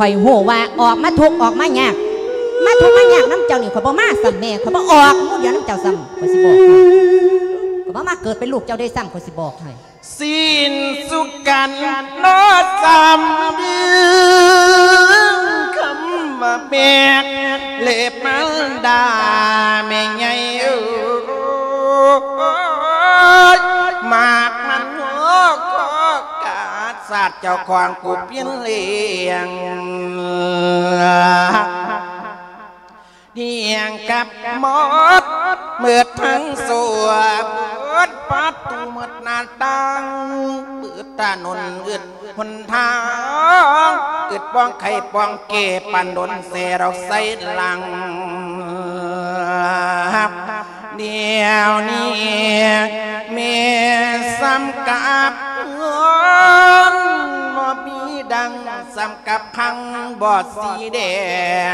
ຂ້ອຍຮູ້ວ່າອອກມາທຸກ ອອກມາຍາກ ມາທຸກມາຍາກນຳເຈົ້ານີ້ ຂ້ອຍບໍ່ມາຊ້ຳແມ່ ຂ້ອຍບໍ່ອອກໝູ່ດຽວນຳເຈົ້າຊ້ຳ ຂ້ອຍຊິບອກໃຫ້ ຂ້ອຍບໍ່ມາເກີດເປັນລູກເຈົ້າເດ້ຊ້ຳ ຂ້ອຍຊິບອກໃຫ້. ສິ້ນສຸກັນເນາະ ສຳເນືອງຄຳວ່າແມ່ ເລບມານດາແມ່ໃຫຍ່ເອີຍ ມາກມັນຫົວຂໍ້ກາດ ຊາດເຈົ້າຂອງກູເປັນລ້ຽງ ດຽງກັບໝົດ ໝົດທັງຊົ່ວ ໝົດປະຕູໝົດໜ້າຕ່າງ ເປີດຖະໜົນອຶດຫົນທາງ ອຶດປ້ອງໄຂປ້ອງແກ້ ປານດົນແສດອກໃສ່ຫຼັງ ດຽວນີ້ແມ່ຊ້ຳກັບເຮືອນ ບໍ່ມີດັງ ຊ້ຳກັບພັງບໍ່ສີແດ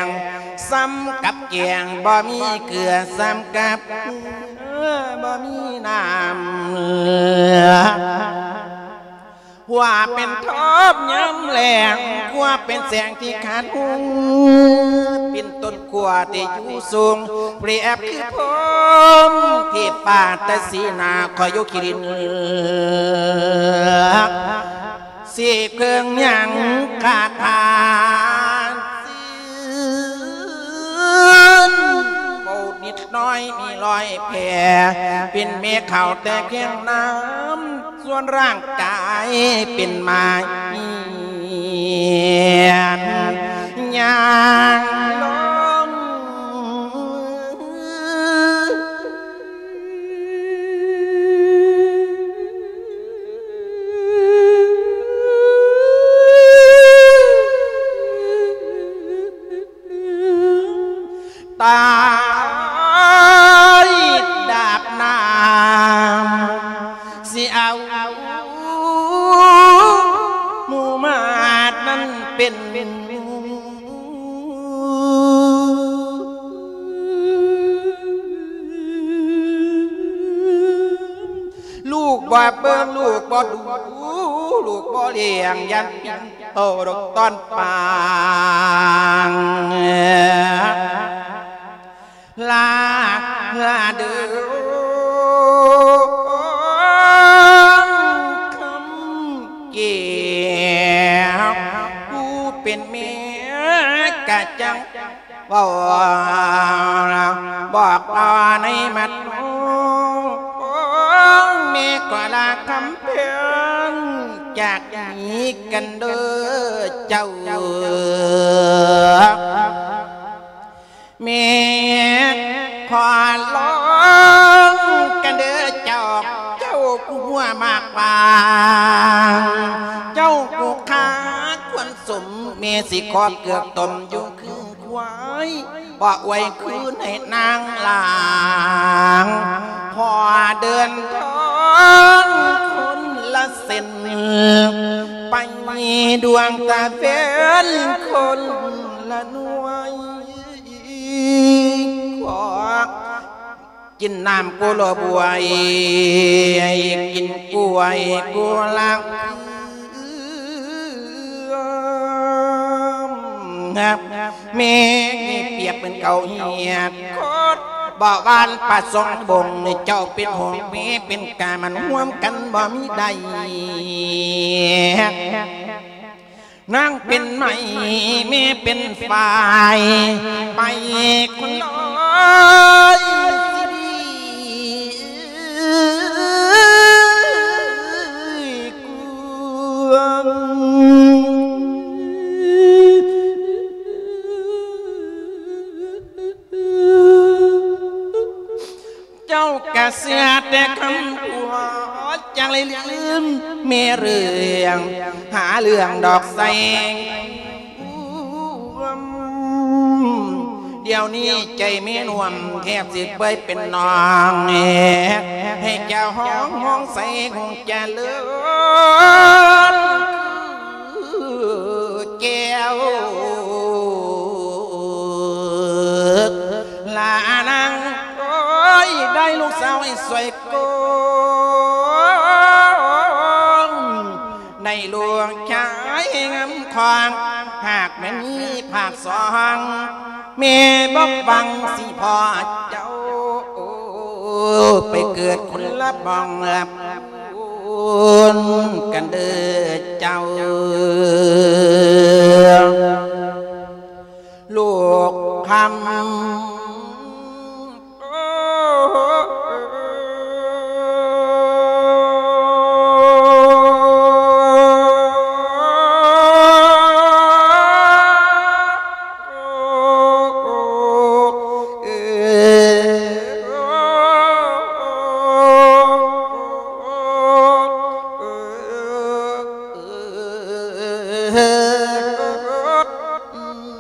ງ ຊ້ຳກັບແກງບໍ່ມີເກືອ ຊ້ຳກັບເກືອບໍ່ມີນ້ຳ ຂົວເປັນທອບຍາມແລ້ງ ຂົວເປັນແສງທີ່ຂາດຫຸ່ງ ເປັນຕົ້ນຂົວທີ່ຢູ່ສູງ ປຽບຄືພົມເທບຟ້າ ແຕ່ສີໜ້າຂ້ອຍຢູ່ຂີ້ດິນ ສີເຄື່ອງຫຍັງຂາດຂາດ ເວົ້ານິດໜ້ອຍມີລອຍແຜ່ ເປັນແມ່ເຂົ້າແຕ່ພຽງນ້ຳ ສ່ວນຮ່າງກາຍເປັນໝາກຫຽນ ຍ່າງລົງ ຕາຍດາບນ້ຳ ຊິເອົາໝູ່ມາດນັ້ນເປັນ ລູກບໍ່ເບິ່ງ ລູກບໍ່ດູ ລູກບໍ່ລ້ຽງ ຢ້ານປິ່ນໂຕດົກຕອນປາງ ລາ ລາເດີ ຄຳແກ້ວ ຜູ້ເປັນແມ່ກະຈັ່ງ ເວົ້າບອກຕໍ່ໃນມັດນ້ອງ ແມ່ຂໍລາຄຳແພງ ຈາກນີ້ກັນເດີເຈົ້າ ແມ່ຂໍລອງກັນເດີເຈົ້າ ເຈົ້າຜູ້ຫົວໝາກບາງ ເຈົ້າຜູ້ຄາຄວນສົມ ແມ່ຊິຂໍເກືອກຕົ້ມຢູ່ຄື ຄວາຍ ບໍ່ອວຍຄືນໃຫ້ນາງຫຼາງ ຂໍເດີນທາງຄົນລະເສັ້ນ ໄປດວງຕາແຟນຄົນລະໜ່ວຍ ຂໍ ກິນນ້ຳກູໂລບວຍ ກິນກ້ວຍກູລາງ ແມ່ປຽບເປັນເຂົ້າຮຽດ ໂຄດບໍ່ຫວານປາສອງບົງ ເຈົ້າເປັນຫົງ ແມ່ເປັນກາ ມັນຮ່ວມກັນບໍ່ມີໃດ ນາງເປັນໄມ້ ແມ່ເປັນຝ້າຍ ໄປຄົນລອຍຊິດີກວ່າ ເຈົ້າກະເຊື່ອແຕ່ຄຳອວດ ຈັ່ງໄດ້ລືມແມ່ເລື່ອງ ຫາເລື່ອງດອກໃສ່ດຽວນີ້ໃຈແມ່ນວມ ແທບຊິເປື່ອຍເປັນໜອງ ໃຫ້ເຈົ້າຮ້ອງຮ້ອງໃສ່ຫົງຈະເລີນ ແກ້ວ ລານາງເອີຍ ໄດ້ລູກສາວໃຫ້ສວຍໂກງ ໃນລູກຊາຍງາມຂວາງ ຫາກ ແມ່ນມີພາກສອງ ແມ່ບໍ່ຫວັງຊິພໍ້ເຈົ້າ ໄປເກີດຄົນລະບ່ອງລະພູນກັນເດີເຈົ້າ ລູກຄຳ.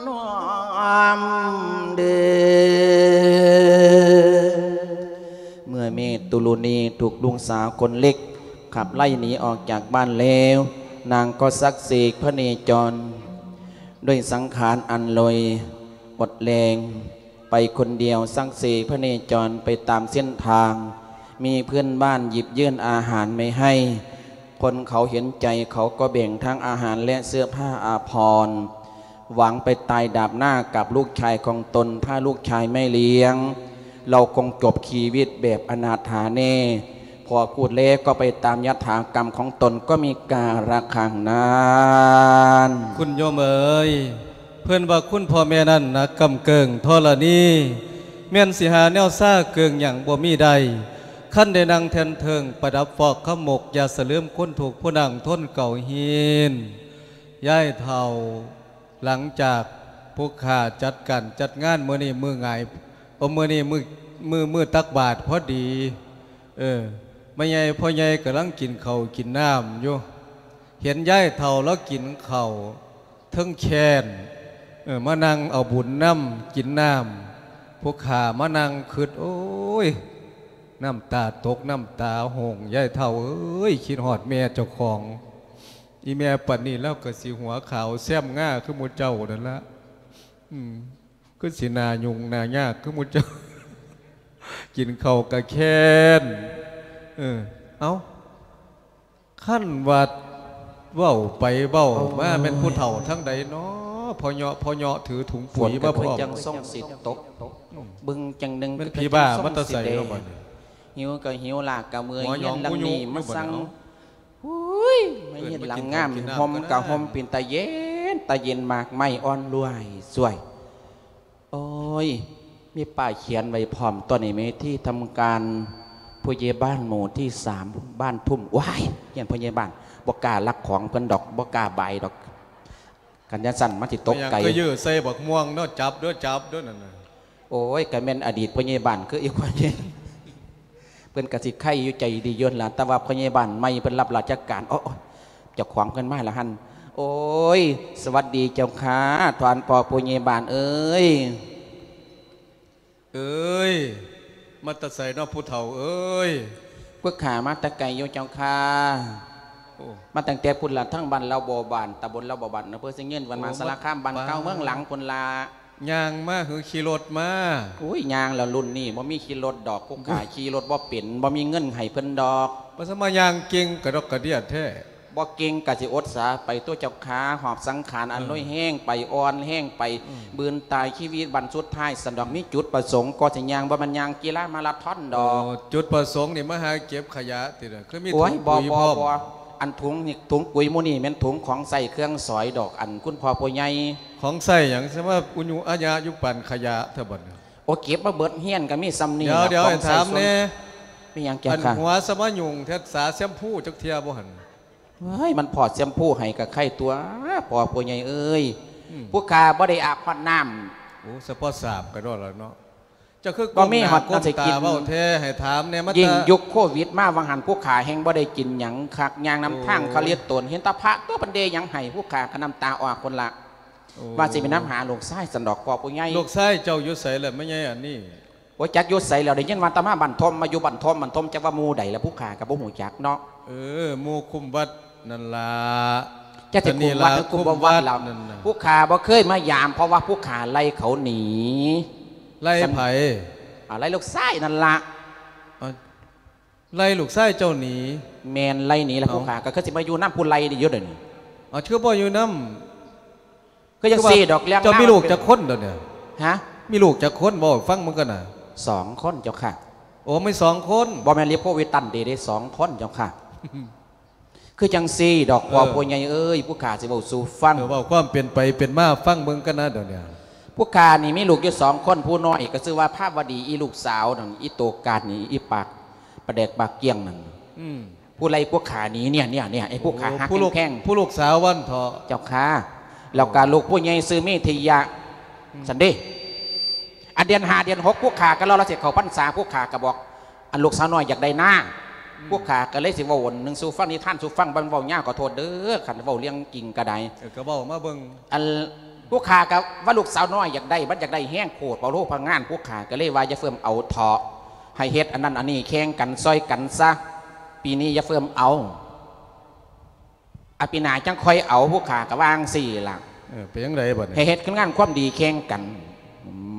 ນ້ອມເດີ ເມື່ອແມ່ຕຸລຸນີຖືກລູກສາວຄົນເລັກຂັບໄລ່ໜີອອກຈາກບ້ານແລ້ວ, ນາງກໍສັກເສກພະເນຈອນດ້ວຍສັງຂານອັນລອຍອົດແລງ ໄປຄົນດຽວ ສັກເສກພະເນຈອນໄປຕາມເສັ້ນທາງ, ມີເພື່ອນບ້ານຫຍິບຍື່ນອາຫານໄວ້ໃຫ້. ຄົນເຂົາເຫັນໃຈ ເຂົາກໍແບ່ງທັງອາຫານ ແລະ ເສື້ອຜ້າອາພອນ ຫວັງໄປຕາຍດາບໜ້າກັບລູກຊາຍຂອງຕົນ. ຖ້າລູກຊາຍໄມ່ລ້ຽງ ລາວຄົງຈົບຊີວິດແບບອະນາຖາແນ່. ພໍພູດແລ້ວກໍໄປຕາມຍະຖາກຳຂອງຕົນ ກໍມີກາລະຄັ້ງນັ້ນ. ຄຸນໂຍມເອີຍ, ເພິ່ນວ່າຄຸນພໍ່ແມ່ນັ້ນໜັກກຳເກີງທໍລະນີ, ແມ່ນຊິຫາແນວຊາເກີງຫຍັງບໍ່ມີໄດ້. ຄັນໄດ້ນັ່ງແທ່ນເທິງປະດັບຟອກຄຳມົກ, ຢ່າສະເຫຼີມຄົນທຸກຜູ້ນັ່ງທົນເກົ່າຮີນ. ຍາຍເຖົ້າ, ຫຼັງຈາກພວກຂ້າຈັດການຈັດງານມື້ນີ້ມື້ຫງາຍ, ໂອ ມື້ນີ້ມື້ ມື້ ມື້ຕັກບາດພໍດີ, ເອີ ແມ່ໃຫຍ່ພໍ່ໃຫຍ່ກຳລັງກິນເຂົ້າກິນນ້ຳຢູ່, ເຫັນຍາຍເຖົ້າລາວກິນເຂົ້າ ເທິງແຄ້ນ ເອີ ມານັ່ງເອົາບຸນນຳ ກິນນ້ຳ. ພວກຂ້າມານັ່ງຄຶດ ໂອ້ຍ ນ້ຳຕາຕົກ ນ້ຳຕາຫົ່ງ. ຍາຍເຖົ້າເອີຍ ຄິດຮອດແມ່ເຈົ້າຂອງ. ອີແມ່ປານນີ້ລາວກໍຊິຫົວຂາວແຊມງາຄືໝູ່ເຈົ້ານັ້ນລະ. ອືມ ຄືຊິໜ້າຫຍຸ້ງໜ້າຍາກຄືໝູ່ເຈົ້າ. ກິນເຂົ້າກະແຄ້ນ. ເອີ ເອົ້າ ຄັນວ່າເວົ້າໄປເວົ້າມາ ໂອ້ຍ ແມ່ນຜູ້ເຖົ້າທາງໃດນໍ? ພໍ່ເຍາະ ພໍ່ເຍາະຖືຖົງປຸຍມາພ້ອມ. ຝົນກໍຄືຈັ່ງຊົງຊິຕົກ ອືມ ບຶງຈັ່ງໜຶ່ງ ແມ່ນ ຄື ຜີບ້າ ຄືຈັ່ງຊົງ ມາແຕ່ໃສ ຊິແດ ເນາະບັດນີ້? ຫິວກໍຫິວ ລາກກໍເມື່ອຍ ຫົວຫຍອງ ເຮືອນຫຼັງນີ້ ມາສັ່ງ ຫຸຍ ມາເຮັດຫຼັງງາມ ເອີ້ນມາກິນເຂົ້າກິນນ້ຳ ຫົ່ມກໍຫົ່ມ ກໍໄດ້ ເປັນຕາເຢັນ ຕາເຢັນ ໝາກໄມ້ອ່ອນລວຍສວຍ. ໂອ້ຍ ມີປ້າຍຂຽນໄວ້ພ້ອມຕົວະນີ້ ເປັນທີ່ທຳການຜູ້ໃຫຍ່ບ້ານໝູ່ທີສາມ ບ້ານທຸ່ມ. ວ້າຍ ຢ້ານຜູ້ໃຫຍ່ບ້ານ ບໍ່ກ້າລັກຂອງເພິ່ນດອກ ບໍ່ກ້າບາຍດອກ. ຄັນຈັ່ງຊັ້ນມັນຊິຕົກໄກ. ແມ່ນຫຍັງກໍຢື້ໃສ່ບັກມ່ວງເນາະ ຈັບເດີ້ ຈັບເດີ້ນັ້ນນະ. ໂອ້ຍ ກໍແມ່ນອະດີດຜູ້ໃຫຍ່ບ້ານຄືອີກຜູ້ໃຫຍ່ ເພິ່ນກໍຊິໄຄຢູ່ ໃຈດີຢູ່ຫັ້ນລະ ແຕ່ວ່າຜູ້ໃຫຍ່ບ້ານໃໝ່ເພິ່ນຮັບລາຊະການ. ໂອ້ ເຈົ້າຂອງເພິ່ນມາລະຫັ້ນ. ໂອ້ຍ ສະຫວັດດີເຈົ້າຄ່າ ທ່ານພໍ່ຜູ້ໃຫຍ່ບ້ານເອີຍ. ເອີຍ ມາແຕ່ໃສເນາະຜູ້ເຖົ້າເອີຍ? ພວກຂ້າມາແຕ່ໄກຢູ່ເຈົ້າຄ່າ. ໂອ້ ມາຕັ້ງແຕ່ພຸ້ນລະ ທາງບ້ານລາວບໍ່ບານ ຕຳບົນລາວບໍ່ບານ ອຳເພີຊຽງຍືນ ແຂວງມະຫາສາລະຄາມ ບ້ານເກົ່າເມືອງຫຼັງພຸ້ນລະ. ຍ່າງມາ ຫຼື ຂີ່ລົດມາ? ໂອ້ຍ ຍ່າງແລ້ວ ລຸ້ນນີ້ບໍ່ມີຂີ່ລົດດອກ ພວກຂ້າຂີ່ລົດບໍ່ເປັນ ບໍ່ມີເງິນໃຫ້ເພິ່ນດອກ. ວ່າຊະມາຍ່າງເກັ່ງກະດອກກະເດຍແທ້. ບໍ່ເກັ່ງກະຊິອົດສາໄປຕົວະເຈົ້າຄ່າ ຫອບສັງຂານອັນ ເອີ ໂລຍແຮງໄປ ອ່ອນແຮງໄປ ອືມ ບືນຕາຍຊີວິດບັ້ນສຸດທ້າຍຊັ້ນດອກ. ມີຈຸດປະສົງກໍຊິຍ່າງ ບໍ່ແມ່ນຍ່າງກິລາມາລາທອນດອກ. ໂອ້ ຈຸດປະສົງນີ້ມາຫາເກັບຂະຫຍະຕິລະ? ຄືມີ ໂອ້ຍ ຖົງ ບໍ່ ປຸຍ ບໍ່ ພ້ອມ ບໍ່. ອັນຖົງນີ້ ຖົງປຸຍໝູ່ນີ້ແມ່ນຖົງຂອງໃຊ້ເຄື່ອງສອຍດອກ ອັນຄຸນພໍ່ຜູ້ໃຫຍ່. ຂອງໃຊ້ຫຍັງ ສະມາອຸຍຸອາຍະຢູ່ປານຂະຫຍະແທ້ບັດນີ້? ໂອ້ ເກັບມາເບິດເຮືອນກໍມີສ່ຳນີ້ລະ. ດຽວໆ ໃຫ້ຖາມແດ່ ມີຫຍັງແກ່ ອັນ ຄ່ະ? ຫົວສະມາຫຍຸ້ງແທ້ ສາແຊມພູຈັກເທື່ອບໍ່ຫັ້ນ? ເອີຍ ມັນພໍດແຊມພູໃຫ້ກໍໄຄຕົວະ ພໍ່ຜູ້ໃຫຍ່ເອີຍ. ອືມ ພວກຂ້າບໍ່ໄດ້ອາບຮອດນ້ຳ. ໂອ້ ສະເພາະສາບກໍໂດນແລ້ວເນາະ. ເຈົ້າຄື ບໍ່ມີຮອດ ກົ້ມໜ້າ ໜ້າຊິກິນ ກົ້ມຕາເວົ້າແທ້ ໃຫ້ຖາມແດ່ ມາ ຍິ່ງ ແຕ່ ຍຸກໂຄວິດມາວ່າຫັ້ນ ພວກຂ້າແຮ່ງບໍ່ໄດ້ກິນຫຍັງຄັກ ຍ່າງນຳ ໂອ້ ທາງເຂົາເລີດຕົນ ເຫັນແຕ່ພະຕົວະເພິ່ນເດຫຍັງໃຫ້ ພວກຂ້າກໍນ້ຳຕາອອກພຸ້ນລະ. ໂອ້ ວ່າຊິໄປນຳຫາລູກຊາຍຊັ້ນດອກ ພໍ່ຜູ້ໃຫຍ່. ລູກຊາຍເຈົ້າຢູ່ໃສລະ ແມ່ໃຫຍ່ອັນນີ້? ໂອ້ຍ ຈັກຢູ່ໃສແລ້ວ ໄດ້ຍິນວ່າແຕ່ມາບ້ານທົ່ມ ມາຢູ່ບ້ານທົ່ມ ບ້ານທົ່ມ ຈັກວ່າໝູ່ໃດລະ ພວກຂ້າກໍບໍ່ຮູ້ຈັກເນາະ. ເອີ ໝູ່ຄຸ້ມວັດ ນັ້ນລະ. ຈັກຊິຄຸ້ມວັດ ແຕ່ນີ້ລະ ຫຼື ຄຸ້ມບໍ່ວັດລະ ຄຸ້ມວັດນັ້ນນະ. ຜູ້ຂ້າບໍ່ເຄີຍມາຢາມ ເພາະວ່າຜູ້ຂ້າໄລ່ເຂົາໜີ. ໄລ່ໃຜ? ອ່າ ໄລ່ລູກຊາຍນັ້ນລະ. ອ່າ ໄລ່ລູກຊາຍເຈົ້າໜີ? ແມ່ນ ໄລ່ໜີລະ. ເອົ້າ ຜູ້ຂ້າກໍຄືຊິມາຢູ່ນຳຜູ້ໄລ່ນີ້ຢູ່ດຽວນີ້. ເອົາ ຄືບໍ່ຢູ່ນຳ? ຄືຈັ່ງຊີ້ດອກ ເລື່ອງເຈົ້າມີລູກຈັກຄົນດຽວນີ້? ຮະ? ມີລູກຈັກຄົນ? ເວົ້າໃຫ້ຟັງເບິ່ງກັນນະ. ສອງຄົນເຈົ້າຄ່ະ. ໂອ້ ມີສອງຄົນ. ບໍ່ແມ່ນລິໂພວິຕັນເດ ໄດ້ສອງຄົນເຈົ້າຄ່ະ. ຄືຈັ່ງຊີ້ດອກ ເອີ ພໍ່ຜູ້ໃຫຍ່ເອີຍ ຜູ້ຂ້າຊິເວົ້າສູ່ຟັງ. ເອີ ເວົ້າຄວາມເປັນໄປເປັນມາຟັງເບິ່ງກັນນະດຽວນີ້. ຜູ້ຂ້ານີ້ມີລູກຢູ່ສອງຄົນ ຜູ້ນ້ອຍກໍຊື່ວ່າພາວະດີ ອີລູກສາວນັ້ນ ອີໂຕກາດນີ້ ອີປາກປາແດກປາກກ້ຽງນັ້ນ. ອືມ. ຜູ້ໄລ່ພວກຂ້າໜີ ເນຍ ເນຍ ເນຍ ໄອ້ພວກຂ້າ ໂອ້ ຮັກ ຜູ້ລູກ ແພງ ຜູ້ລູກສາວວັນເທາະ ເຈົ້າຄ່ະ. ແລ້ວກໍລູກຜູ້ໃຫຍ່ຊື່ເມທິຍະ ອືມ ຊັ້ນເດ. ອັນເດືອນຫ້າເດືອນຫົກ ພວກຂ້າກໍລໍລະຊິເຂົ້າພັນສາ ພວກຂ້າກໍບອກ ອັນລູກສາວນ້ອຍຢາກໄດ້ນາ ອືມ ພວກຂ້າກໍເລີຍຊິເວົ້າອັນໜຶ່ງສູ່ຟັງ ນິທານສູ່ຟັງ ມັນເວົ້າຍາວ ຂໍໂທດເດີ ຄັນເວົ້າເລື່ອງຈິງກໍໄດ້. ເອີ ກໍເວົ້າມາເບິ່ງ. ອັນ ພວກຂ້າກໍວ່າລູກສາວນ້ອຍຢາກໄດ້ ມັນຢາກໄດ້ແຮງໂພດ ເວົ້າໂລພະງານ ພວກຂ້າກໍເລີຍວ່າຢ່າເຟີ້ມເອົາເທາະ ໃຫ້ເຮັດອັນນັ້ນອັນນີ້ແຂ່ງກັນ ຊ່ອຍກັນຊະ ປີນີ້ຢ່າເຟີ້ມເອົາ ອາ ປີໜ້າຈັ່ງຄ່ອຍເອົາ ພວກຂ້າກໍວ່າຈັ່ງຊີ້ລະ. ເອີ ເປັນຈັ່ງໃດບັດນີ້? ໃຫ້ເຮັດງານຄວາມດີແຂ່ງກັນ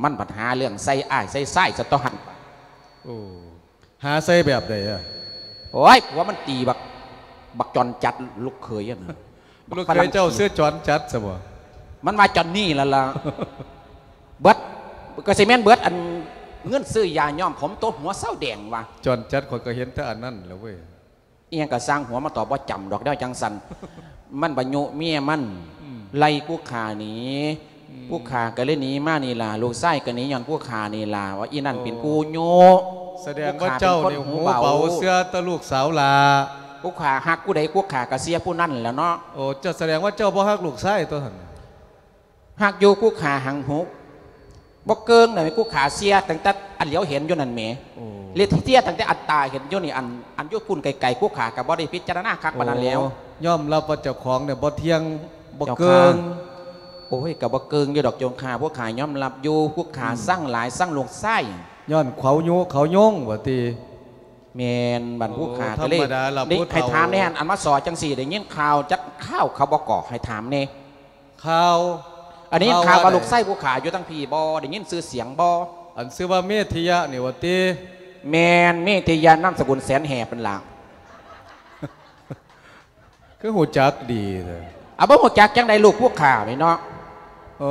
ມັນບັດຫາເລື່ອງໃສ່ອ້າຍໃສ່ຊາຍຊະຕົວຫັ້ນ. ໂອ້ ຫາໃສ່ແບບໃດອະ? ໂອ້ຍ ຜົວມັນຕີບັກ ບັກຈອນຈັດລູກເຂີຍຫັ້ນນະ. ລູກເຂີຍເຈົ້າຊື່ຈອນຈັດຊະບໍ? ມັນວ່າຈອນນີ້ລະລະ ເບິດ ກໍຊິແມ່ນເບິດອັນເງິນຊື້ຢາຍ້ອມຜົມໂຕຫົວເຊົາແດງວ່າ. ຈອນຈັດ ຂ້ອຍກໍເຫັນແຕ່ອັນນັ້ນແຫຼະເວີຍ. ອີ່ຫຍັງກໍຊ່າງຫົວ ມັນຕອບບໍ່ຈຳດອກແນວຈັ່ງຊັ້ນ. ມັນບໍ່ຍຸເມຍມັນ ອືມ ໄລ່ພວກຂ້າໜີ ອືມ ພວກຂ້າກໍເລີຍໜີມານີ້ລະ ລູກຊາຍກໍໜີຍ້ອນພວກຂ້ານີ້ລະ ວ່າອີ່ນັ້ນເປັນຜູ້ຍຸ. ສະແດງວ່າເຈົ້ານີ້ຫູເບົາ ເຊື່ອແຕ່ລູກສາວຫຼ້າ. ພວກຂ້າຮັກຜູ້ໃດ ພວກຂ້າກໍເຊື່ອຜູ້ນັ້ນແຫຼະເນາະ. ໂອ້ ເຈົ້າ ສະແດງວ່າເຈົ້າບໍ່ຮັກລູກຊາຍຕົວຫັ້ນ. ຮັກຢູ່ ພວກຂ້າຫັງຫູ ບໍ່ເກີງນະ ພວກຂ້າເຊື່ອຕັ້ງແຕ່ອັນຫຼຽວເຫັນຢູ່ນັ້ນແໝ. ໂອ້ ເລີຍເຊື່ອຕັ້ງແຕ່ອັດຕາເຫັນຢູ່ນີ້ ອັນ ອັນຢູ່ພຸ້ນໄກໆ ພວກຂ້າກໍບໍ່ໄດ້ພິຈາລະນາຄັກປານນັ້ນແລ້ວ. ໂອ້ ຍອມຮັບວ່າເຈົ້າຂອງນີ້ບໍ່ທ່ຽງ ບໍ່ເກີງ. ໂອ້ຍ ກໍບໍ່ເກີງຢູ່ດອກເຈົ້າຄ່ະ ພວກຂ້າຍອມຮັບຢູ່ ພວກຂ້າ ອືມ ຊັງຫຼາຍ ຊັງລູກຊາຍ ຍ້ອນເຂົາຍຸເຂົາຍົງວ່າຕິ. ແມ່ນ ບັດ ໂອ້ ພວກຂ້າກໍເລີຍ ທຳມະດາລະ ໃຫ້ຖາມແດ່ ອັນມາສໍຈັ່ງຊີ້ ໄດ້ຍິນຂ່າວຈັກຂ່າວເຂົາບໍ່ກໍ ໃຫ້ຖາມແດ່. ຂ່າວ ອັນນີ້ ຂ່າວ ຂ່າວວ່າ ວ່າໃດ? ລູກຊາຍຜູ້ຂ້າຢູ່ທາງພີ້ບໍ່? ໄດ້ຍິນຊື່ສຽງບໍ່? ອັນຊື່ວ່າເມທິຍະນີ້ວ່າຕິ? ແມ່ນ ເມທິຍະ ນາມສະກຸນແສນແຫບນັ້ນລະ. ຄືຮູ້ຈັກດີແທ້? ອາ ບໍ່ຮູ້ຈັກຈັ່ງໃດ ລູກພວກຂ້ານີ້ເນາະ. ເອີ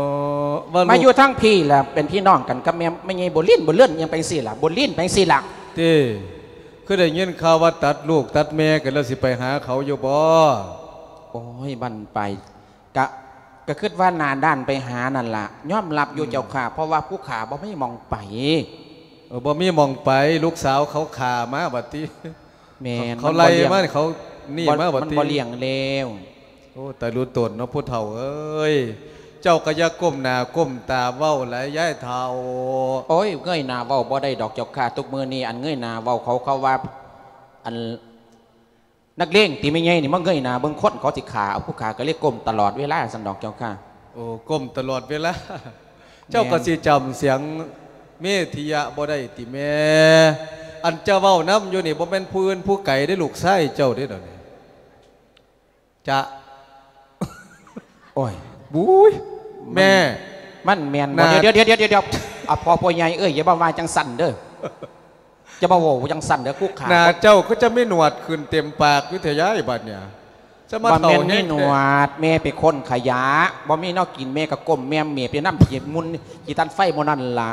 ວ່າລູກ ມາຢູ່ທາງພີ້ລະ ເປັນພີ່ນ້ອງກັນກັບແມ່ ແມ່ໃຫຍ່ບົວລິນ ບົວເລື່ອນ ຫຍັງໄປຈັ່ງຊີ້ລະ ບົວລິນ ໄປຈັ່ງຊີ້ລະ. ຕິ ຄືໄດ້ຍິນຂ່າວວ່າຕັດລູກຕັດແມ່ກັນແລ້ວ ຊິໄປຫາເຂົາຢູ່ບໍ່? ໂອ້ຍ ບັ້ນໄປ ກະ ກະຄິດວ່າໜ້າດ້ານໄປຫານັ້ນລະ ຍອມຮັບຢູ່ ອືມ ເຈົ້າຂ້າ ເພາະວ່າຜູ້ຂ້າບໍ່ມີໝ່ອງໄປ. ເອີ ບໍ່ມີໝ່ອງໄປ ລູກສາວເຂົາຂ້າມາບັດຕິ. ແມ່ນ ເຂົາໄລ່ມາ ເຂົານີ້ມາບັດຕິ ມັນບໍ່ລ້ຽງແລ້ວ. ໂອ້ ຕາຍຮູ້ຕົນເນາະ ຜູ້ເຖົ້າເອີຍ ເຈົ້າກໍຢ່າກົ້ມໜ້າກົ້ມຕາເວົ້າຫຼາຍ ຍາຍເຖົ້າ. ໂອ້ຍ ເງີຍໜ້າເວົ້າບໍ່ໄດ້ດອກເຈົ້າຂ້າ ທຸກມື້ນີ້ ອັນເງີຍໜ້າເວົ້າ ເຂົາ ເຂົາວ່າ ອັນ ນັກເລງຕິ ແມ່ໃຫຍ່ນີ້ມາເງີຍໜ້າເບິ່ງຄົນ ເຂົາຊິຂ້າເອົາ ຜູ້ຂ້າກໍເລີຍກົ້ມຕະຫຼອດເວລາຊັ້ນດອກເຈົ້າຄ່ະ. ໂອ້ ກົ້ມຕະຫຼອດເວລາ. ແມ່ນ. ເຈົ້າກໍຊິຈຳສຽງເມທິຍະບໍ່ໄດ້ຕິແມ່? ອັນເຈົ້າເວົ້ານຳຢູ່ນີ້ ບໍ່ແມ່ນຜູ້ອື່ນຜູ້ໄກເດ້ ລູກຊາຍເຈົ້າເດ້ດຽວນີ້. ຈະ ໂອ້ຍ ບຸ້ຍ ມັນ ແມ່ ມັນແມ່ນບໍ່? ໜ້າ ດຽວໆໆໆ ອາ ພໍ່ ພໍ່ໃຫຍ່ເອີຍ ຢ່າມາວ່າຈັ່ງຊັ້ນເດີ ຢ່າມາເວົ້າຈັ່ງຊັ້ນເດີ ຄຸກຄາ ໜ້າເຈົ້າຄືຈະມີໜວດຂຶ້ນເຕັມປາກຢູ່ແທ້ຍາຍ ບັດເນີ້ຍ ຈະມາ ບໍ່ແມ່ນມີໜວດ ແມ່ເປັນຄົນຂະຫຍະ ບໍ່ມີແນວກິນ ແມ່ກໍກົ້ມແມ່ເມໄປນຳຂີ້ຝຸ່ນ ຂີ້ຖ່ານໄຟໝູ່ນັ້ນລະ.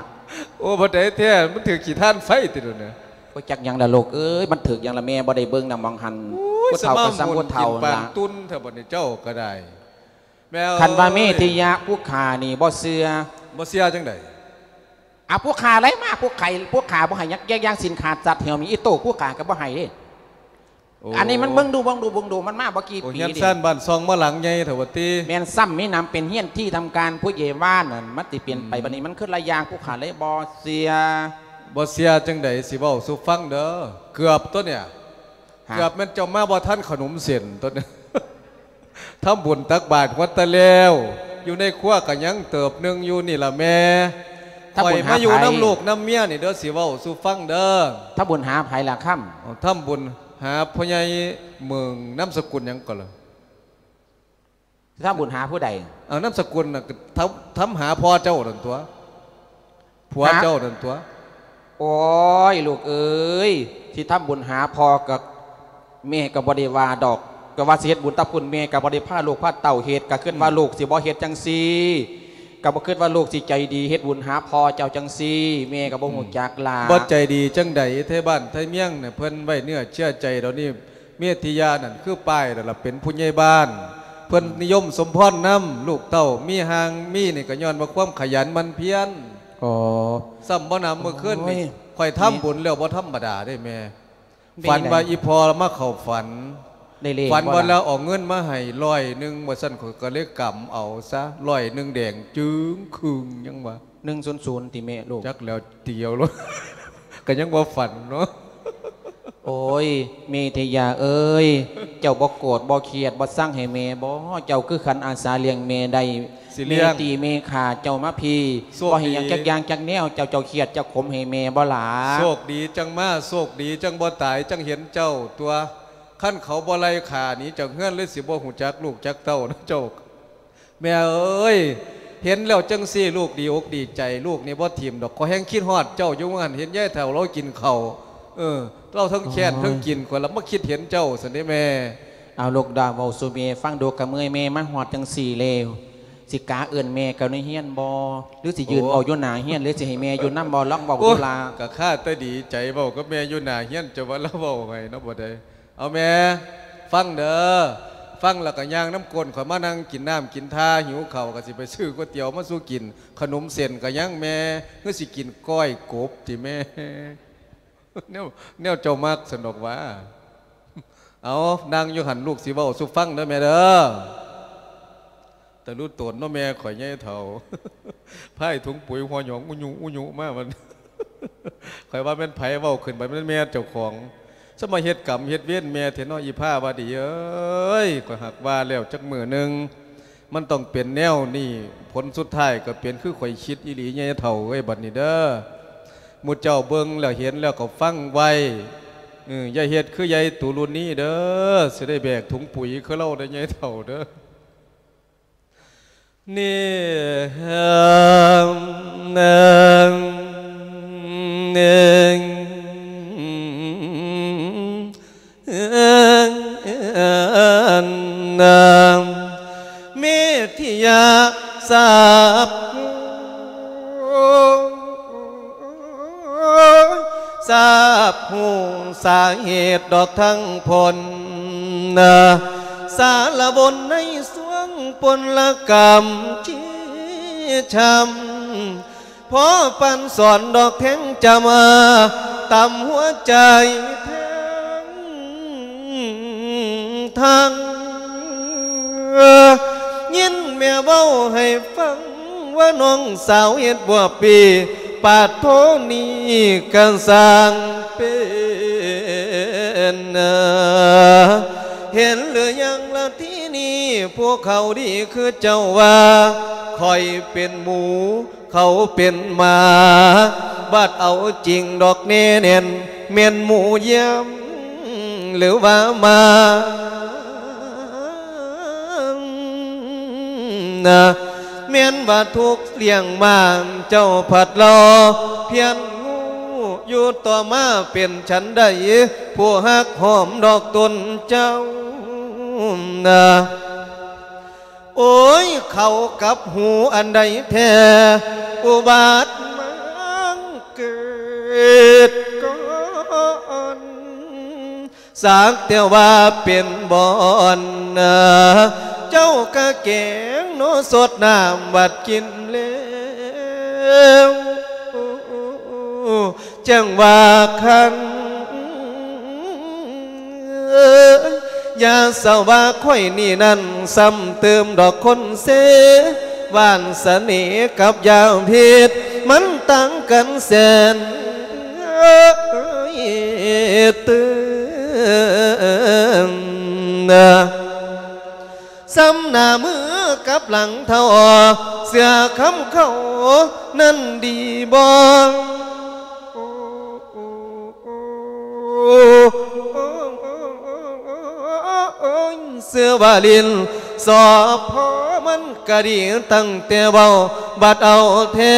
ໂອ້ ບໍ່ໄດ້ແທ້ ມັນຖືກຂີ້ຖ່ານໄຟຕິດແລ້ວນະ. ບໍ່ຈັກຫຍັງລະລູກເອີຍ ມັນຖືກຫຍັງລະແມ່ ບໍ່ໄດ້ເບິ່ງນຳໝ່ອງຫັ້ນ. ໂອ້ຍ ຜູ້ເຖົ້າກໍສ່ຳຜູ້ເຖົ້າລະ ກິນປານຕຸ່ນແທ້ບັດນີ້ ເຈົ້າກໍໄດ້. ແມ່ເອີຍ ຄັນວ່າເມທິຍະຜູ້ຂ້ານີ້ບໍ່ເຊື່ອ. ບໍ່ເຊື່ອຈັ່ງໃດ? ອາ ຜູ້ຂ້າໄລ່ມາ ຜູ້ໄຂ້ ຜູ້ຂ້າບໍ່ໃຫ້ຫຍັງ ແຍກຢ່າງສິນຂາດສັດແຖວມີອີໂຕ້ ຜູ້ຂ້າກໍບໍ່ໃຫ້ເດ້. ໂອ້ ອັນນີ້ມັນເບິ່ງດູ ເບິ່ງດູ ເບິ່ງດູ ມັນມາບໍ່ກີ່ປີນີ້ ໂອ້ ເຮືອນຊານບ້ານຊ່ອງມາຫຼັງໃຫຍ່ແທ້ວ່າຕິ. ແມ່ນ ຊ້ຳມີນາມເປັນເຮືອນທີ່ທຳການຜູ້ໃຫຍ່ບ້ານນັ້ນ ມັນຊິປ່ຽນໄປ ອືມ ບັດນີ້ມັນຄືລະຢ່າງ ຜູ້ຂ້າເລີຍບໍ່ເຊື່ອ. ບໍ່ເຊື່ອຈັ່ງໃດ ຊິເວົ້າສູ່ຟັງເດີ ເກືອບຕົວເນີ້ຍ ຮະ ເກືອບແມ່ນເຈົ້າມາບໍ່ທັນຂະໜົມເສັ້ນຕົວນີ້. ທຳບຸນຕັກບາດຫົວຕາແລ້ວ ຢູ່ໃນຄົວກໍຍັງເຕີບໜຶ່ງຢູ່ນີ້ລະແມ່. ຂ້ອຍມາຢູ່ນຳລູກນຳເມຍນີ້ເດີ ຊິເວົ້າສູ່ຟັງເດີ. ທຳບຸນຫາໃຜລະຄຳ? ທຳບຸນຫາພໍ່ໃຫຍ່ເໝິງ ນາມສະກຸນຫຍັງກໍລະ? ທຳບຸນຫາຜູ້ໃດ? ເອົາ ນາມສະກຸນນະ ທຳ ທຳຫາພໍ່ເຈົ້ານັ້ນຕົວະ ຜົວເຈົ້ານັ້ນຕົວະ. ໂອ້ຍ ລູກເອີຍ ຊິທຳບຸນຫາພໍ່ກໍ ແມ່ກໍບໍ່ໄດ້ວ່າດອກ ກໍວ່າຊິເຮັດບຸນກັບຄຸນແມ່ ກໍບໍ່ໄດ້ພາລູກພາເຕົ້າເຮັດ ກໍຄິດວ່າ ອືມ ລູກຊິບໍ່ເຮັດຈັ່ງຊີ້ ກໍບໍ່ຄິດວ່າລູກຊິໃຈດີເຮັດບຸນຫາພໍ່ເຈົ້າຈັ່ງຊີ້ ແມ່ກໍບໍ່ ອືມ ຮູ້ຈັກຫຼ້າ ບໍ່ໃຈດີຈັ່ງໃດ ໄທບ້ານໄທເມືອງນີ້ ເພິ່ນໄວ້ເນື້ອເຊື່ອໃຈດອກນີ້ ເມທິຍານັ້ນຄືປ້າຍແລ້ວລະ ເປັນຜູ້ໃຫຍ່ບ້ານ ເພິ່ນ ອືມ ນິຍົມສົມພອນນຳ ລູກເຕົ້າມີຮ່າງມີນີ້ ກໍຍ້ອນວ່າຄວາມຂະຫຍັນໝັ່ນພຽນ ອໍ ຊ້ຳບໍ່ນຳ ມື້ຄືນນີ້ ໂອ້ຍ ຂ້ອຍທຳບຸນແລ້ວ ແມ່ ບໍ່ທຳມະດາເດ້ແມ່ ແມ່ນ ຝັນວ່າອີ່ພໍ່ມາເຂົ້າຝັນ ໄດ້ເລກ ຝັນວ່າ ບໍ່ລະ ລາວເອົາເງິນມາໃຫ້ຮ້ອຍໜຶ່ງ ວ່າຊັ້ນ ຂ້ອຍກໍເລີຍກຳເອົາຊະ ຮ້ອຍໜຶ່ງແດງຈຶ່ງຄຶ່ງ ຍັງວ່າ ໜຶ່ງສູນສູນ ຕິແມ່ລູກ ຈັກແລ້ວ ຕີເອົາໂລດ ກໍຍັງວ່າຝັນເນາະ ໂອ້ຍ ເມທິຍາເອີຍ ເຈົ້າບໍ່ໂກດບໍ່ຄຽດບໍ່ຊັງໃຫ້ແມ່ບໍ? ເຈົ້າຄືຂັນອາສາລ້ຽງແມ່ໄດ້ ຊິລ້ຽງ ແມ່ຕີແມ່ຂ້າເຈົ້າມາພີ້ ໂຊກດີ ບໍ່ເຮັດຫຍັງຈັກຢ່າງຈັກແນວ ເຈົ້າ ເຈົ້າຄຽດເຈົ້າຂົມໃຫ້ແມ່ບໍ່ຫຼ້າ? ໂຊກດີຈັ່ງມາ ໂຊກດີຈັ່ງບໍ່ຕາຍ ຈັ່ງເຫັນເຈົ້າຕົວະ ຄັນເຂົາບໍ່ໄລ່ຂ້າໜີຈາກເຮືອນເລີຍ ຊິບໍ່ຮູ້ຈັກລູກຈັກເຕົ້ານະເຈົ້າ. ແມ່ເອີຍ ເຫັນແລ້ວຈັ່ງຊີ້ ລູກດີອົກດີໃຈ ລູກນີ້ບໍ່ຖິ້ມດອກ ຂ້ອຍແຮ່ງຄິດຮອດເຈົ້າຢູ່ ວ່າຫັ້ນ ເຫັນຍາຍເຖົ້າລາວກິນເຂົ້າ ເອີ ລາວທັງແຄ້ນ ອໍ ທັງກິນ ຂ້ອຍລະມາຄິດເຫັນເຈົ້າຊັ້ນເດ້ແມ່. ເອົາລູກດາ ເວົ້າສູ່ແມ່ຟັງດູ ກະເມື່ອຍແມ່ມາຮອດຈັ່ງຊີ້ແລ້ວ ຊິກາເອີ້ນແມ່ເຂົ້າໃນເຮືອນບໍ່ ຫຼືຊິຢືນ ໂອ້ ເວົ້າຢູ່ໜ້າເຮືອນ ຫຼືຊິໃຫ້ແມ່ຢູ່ນຳບໍ່? ລອງເວົ້າ ໂອ້ ດູລະ ກະຄາແຕ່ດີໃຈເວົ້າກັບແມ່ຢູ່ໜ້າເຮືອນ ເຈົ້າວ່າລາວເວົ້າໃຫ້ເນາະ ບໍ່ໄດ້. ເອົາແມ່ ຟັງເດີ ຟັງແລ້ວກໍຍ່າງນຳກົ້ນຂ້ອຍມານັ່ງກິນນ້ຳກິນທ່າ ຫິວເຂົ້າກໍຊິໄປຊື້ກ໋ວຍຕຽວມາສູ່ກິນ ຂະໜົມເສັ້ນກໍຍັງແມ່ ຄືຊິກິນກ້ອຍກົບຕິແມ່? ແນວ ແນວເຈົ້າມັກຊັ້ນດອກຫວາ. ເອົາ ນັ່ງຢູ່ຫັ້ນ ລູກຊິເວົ້າສູ່ຟັງເດີແມ່ເດີ. ຕະລຸໂຕນເນາະແມ່ຂ້ອຍໃຫຍ່ເຖົ້າ ພາຍຖົງປຸຍຫົວຫຍອງອຸຍຸອຸຍຸມາ ມັນ ຂ້ອຍວ່າແມ່ນໃຜເວົ້າຂຶ້ນໄປ ແມ່ນແມ່ເຈົ້າຂອງ ສະມາເຮັດກຳເຮັດເວນແມ່ແທ້ເນາະ ອີພາວະດີເອີຍ. ຂ້ອຍຫາກວ່າແລ້ວຈັກມື້ໜຶ່ງ ມັນຕ້ອງເປັນແນວນີ້ ຜົນສຸດທ້າຍກໍເປັນຄືຂ້ອຍຄິດອີ່ຫຼີ ໃຫຍ່ເຖົ້າເອີຍ. ບັດນີ້ເດີ ໝູ່ເຈົ້າເບິ່ງແລ້ວເຫັນແລ້ວກໍຟັງໄວ້ ເອີ ຢ່າເຮັດຄືຍາຍຕູລຸນນີ້ເດີ ຊິໄດ້ແບກຖົງປຸຍຄືລາວເດີ ໃຫຍ່ເຖົ້າເດີ. ນີ້ ເມທິຍາ ຊາບ ຊາບຮູ້ສາເຫດດອກທັງພົນ ສາລະບົນໃນສວງພົນລະກຳຈີຊ້ຳ ພໍປັນສອນດອກແທງຈຳ ຕຳຫົວໃຈແທງທັງ ຍິນແມ່ເວົ້າໃຫ້ຟັງ ວ່ານ້ອງສາວເຮັດບົວປີ ປາດໂທນີ້ກະຊ່າງເປັນ ເຫັນຫຼືຍັງລະທີນີ້ ພວກເຂົາດີຄືເຈົ້າວ່າ ຂ້ອຍເປັນໝູ ເຂົາເປັນໝາ ບັດເອົາຈິງດອກແນ່ແໜ້ນ ແມ່ນໝູຢ້ຽມ ຫຼືວ່າໝາ ແມ່ນວ່າທຸກລ້ຽງມາ ເຈົ້າພັດລໍພຽນຮູ້ ຢູ່ຕໍ່ມາເປັນສັນໃດ ຜູ້ຮັກຫອມດອກຕົນເຈົ້າ ໂອ້ຍ ເຂົາກັບຮູ້ອັນໃດແທ້ ອຸບາດມາເກີດກ່ອນ ສັກແຕ່ວ່າເປັນບ່ອນ ເຈົ້າກະແກງເນາະ ສົດນ້ຳບັດກິນແລ້ວ ຈັ່ງວ່າຄັນ ຢ່າສະວ່າຂ້ອຍນີ້ນັ້ນ ຊ້ຳເຕີມດອກຄົນເຊ ວານສະເໜ່ກັບຢາພິດ ມັນຕ່າງກັນແສນເຕີມ ຊ້ຳໜ້າມືກັບຫຼັງເທົ່າ ເສື້ອຄຳເຂົານັ້ນດີບໍ່? ເສື້ອວ່າຫຼິ້ນສອບພໍມັນກະດີ ຕັ້ງແຕ່ເວົ້າບັດເອົາແທ້